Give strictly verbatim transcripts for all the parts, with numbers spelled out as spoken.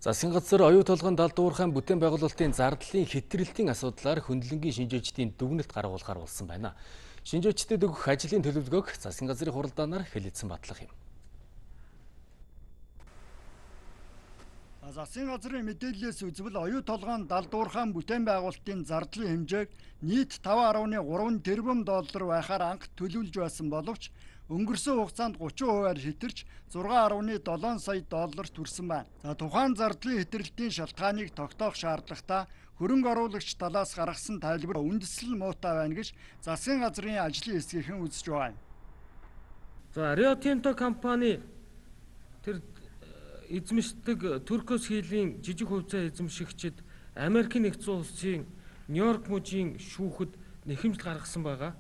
Засгийн газар оюу толгойн далдуурхайн бүтээн байгуулалтын зардлын хэтрэлтийн асуудлаар хөндлөнгийн шинжээчдийн дүгнэлт гаргуулахар болсон байна. Шинжээчдэд өгөх ажлын төлөвлөгөөг засгийн газрын хуралдаанаар хэлэлцэн батлах юм. Засгийн газрын мэдээллээс үзвэл оюу толгойн далдуурхайн бүтээн байгуулалтын зардлын хэмжээг нийт таван гаруй гурван тэрбум доллар байхаар анх төлөвлөж байсан боловч өнгөрсөн хугацаанд гучин хувиар хэтэрч зургаан гаруй долоон сая долларт хүрсэн байна. За тухайн зардлын хэтрэлтийн шалтгааныг тогтоох шаардлагатай хөрөнгө оруулагч талаас гаргасан тайлбар үндэслэл муутай байна гэж засгийн газрын ажлын хэсгийнхэн үзэж байна. За Rio Tinto компани тэр эзэмшдэг Turquoise Hill-ийн жижиг хувьцаа эзэмшигчид Америкийн нэгдсэн улсын Нью-Йорк мужийн шүүхэд нэхэмжил гаргасан байгаа.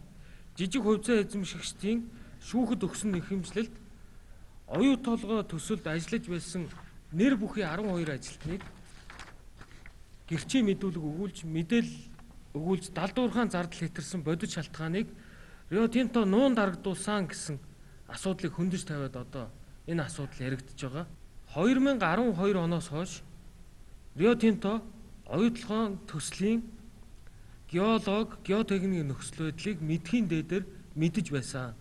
Жижиг хувьцаа эзэмшигчдийн шүүхэд өгсөн нэхэмжлэлд оюу толгой төсөлд ажиллаж байсан нэр бүхий арван хоёр ажилтныг гэрчийн мэдүүлэг өгүүлж мэдээлэл өгүүлж далдуурхайн зардал хэтэрсэн бодит шалтгааныг Rio Tinto нуун дарагдуулсан гэсэн асуудлыг хөндөж тавиад одоо энэ асуудал яригдж байгаа. две тысячи арван хоёр оноос хойш Rio Tinto оюу толгойн төслийн геолог, геотехникийн нөхцөл байдлыг мэдхийн дээдээр мэдэж байсан.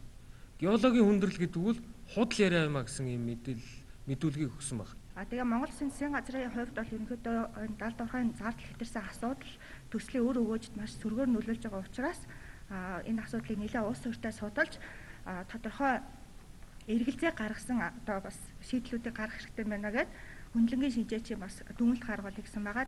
Геологийн хүндрэл гэдэг нь худал яриа юмаа гэсэн юм мэдээлэл мэдүүлгийг өгсөн баг. А тэгээ Монгол Улсын засгийн газрын хувьд бол ерөнхийдөө далдуурхайн зардал хэтэрсэн асуудал төслийн өр өгөөжд маш сөргөөр нөлөөлж байгаа учраас энэ асуудлыг нэлээд улс төртэй судалж тодорхой эргэлзээ гаргасан одоо бас шийдлүүдийг гаргах хэрэгтэй байна гэдэг хөндлөнгийн шинжээчийн бас дүгнэлт гаргуулъя гэсэн байгаа.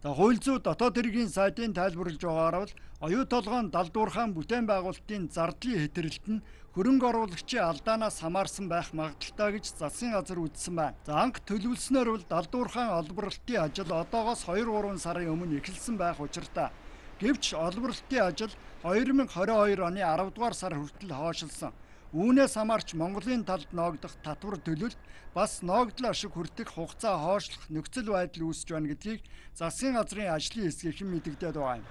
За хууль зүйн дотоод хэргийн сайдын тайлбарлаж байгаагаар бол оюу толгойн далдуурхайн бүтээн байгуулалтын зардлын хэтрэлт нь хөрөнгө оруулагчийн алдаанаас хамаарсан байх магадaltaй гэж засгийн газар үзсэн байна. За анх төлөвлөснөөр бол далдуурхайн олборлолтын ажил одоогоос хоёр гурван сарын өмнө эхэлсэн байх учиртай. Гэвч олборлолтын ажил две тысячи двадцать two оны арав дугаар сар хүртэл хойшилсан. Үүнээс хамаарч Монголын талд ноогдох татвар төлөлт бас ноогдол ашиг хүртэх хугацаа хойшлох нөхцөл байдал үүсэж байна гэдгийг засгийн газрын ажлын хэсгийнхэн мэдэгдээд байгаа юм.